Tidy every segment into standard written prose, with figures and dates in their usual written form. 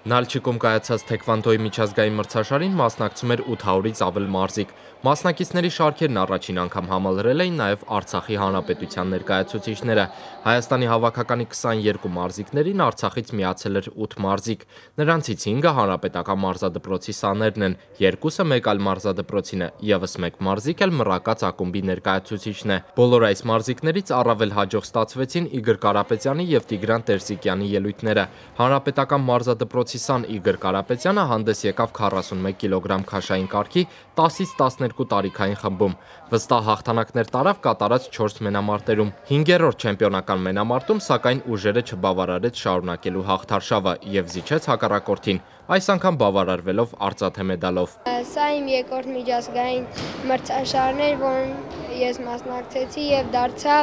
Նալչիկում կայացած թեքվանդոյի միջազգային մրցաշարին մասնակցում էր 800-ից ավել մարզիկ։ Մասնակիցների շարքերն առաջին անգամ համալրել էին նաև Արցախի Հանրապետության ներկայացուցիչները։ Հայաստանի հավաքականի 22 մարզիկներին Արցախից միացել էր 8 մարզիկ։ Նրանցից 5-ը հանրապետական մարզադպրոցի սաներն են, 2-ը մեկ այլ մարզադպրոցին է, ևս մեկ մարզիկ էլ մռակած ակումբի ներկայացուցիչն է։ Բոլոր այս մարզիկներից առավել հաջող ստացվեցին Իգոր Կարապետյանի և Տիգրան Տերսիկյանի ելույթները։ Հանրապետական մարզադպրոցի Սան Իգոր Կարապետյանը հանդես եկավ 41 կիլոգրամ քաշային կարգի 10-ից 12 տարիքային խմբում։ Վստահ հաղթանակներ տարավ կատարած 4 մենամարտերում։ 5-րդ չեմպիոնական մենամարտում, սակայն ուժերը չբավարարեց շարունակելու հաղթարշավը և զիջեց հակառակորդին, այս անգամ բավարարվելով արծաթե մեդալով։ Սա իմ երկրորդ միջազգային մրցաշարն էր, որին ես մասնակցեցի և դարձա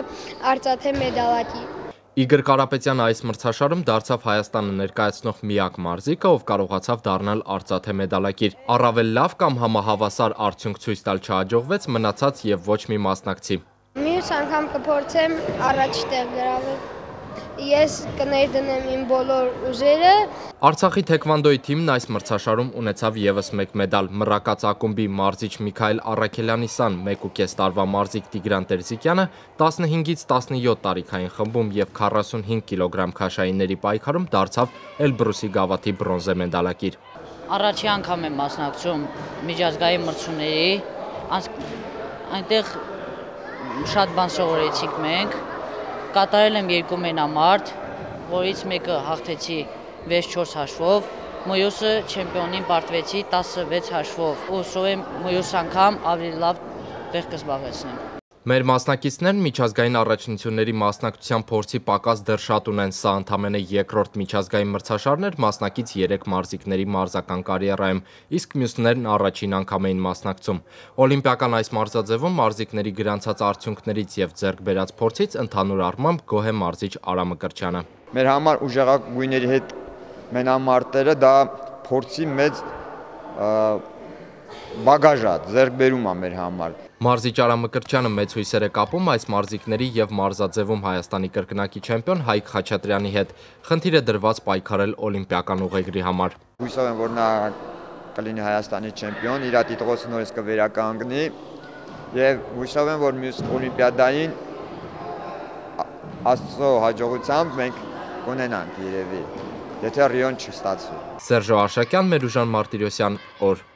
արծաթե մեդալակիր։ Իգոր Կարապետյանը այս մրցաշարում դարձավ Հայաստանը ներկայացնող միակ մարզիկը, ով կարողացավ դառնալ արծաթե մեդալակիր։ Առավել լավ կամ համահավասար արդյունք ցույց տալ չհաջողվեց մնացած և ոչ մի մասնակցի։ Մյուս անգամ կփորձեմ առաջ տեղ գրավել։ Ես կներդնեմ իմ բոլոր ուժերը։ Արցախի թեքվանդոյի թիմն այս մրցաշարում ունեցավ ևս մեկ մեդալ։ Մռակած ակումբի մարզիչ Միքայել Առաքելյանի սան 1.5 տարվա մարզիկ Տիգրան Տերսիկյանը 15-ից 17 տարիքային խմբում և 45 կիլոգրամ քաշայինների պայքարում դարձավ Էլբրուսի գավաթի բրոնզե մեդալակիր։ Առաջի անգամ եմ մասնակցում միջազգային մրցումների, այնտեղ շատ բան սովորեցինք մենք, կատարել եմ 2 մենամարտ, որից մեկը հաղթեցի 6-4 հաշվով, մյուսը չեմպիոնին պարտվեցի 16 հաշվով, ու հուսով եմ մյուս անգամ ավելի լավ տեղ կզբաղեցնեմ։ Մեր մասնակիցներն միջազգային առաջնությունների մասնակցության փորձի պակաս դեռ շատ ունեն, սա ընդամենը երկրորդ միջազգային մրցաշարն էր մասնակից 3 մարզիկների մարզական կարիերայում, իսկ մյուսներն առաջին անգամ էին մասնակցում։ Օլիմպիական այս մարզաձևում մարզիկների գրանցած արդյունքներից և ձեռք բերած փորձից ընդհանուր առմամբ գոհ է մարզիչ Արա Մկրտչյանը։ Մեր համար ուժեղագույնների հետ մենամարտերը դա փորձի մեծ բագաժ է, ձեռքբերում է մեր համար։ Մարզիչ Արա Մկրտչյանը մեծ հույսեր է կապում այս մարզիկների և մարզաձևում Հայաստանի կրկնակի չեմպիոն Հայկ Խաչատրյանի հետ։ Խնդիր է դրված պայքարել օլիմպիական ուղեգրի համար։ Հույսով եմ, որ նա կլինի Հայաստանի չեմպիոն, իր տիտղոսը նորից կվերականգնի և հույսով եմ, որ մյուս օլիմպիադային Աստծո հաջողությամբ մենք կունենանք երևի, եթե Ռիոն չստացվի։ Սերժո Արշակյան, Մերուժան Մարտիրոսյան, օր։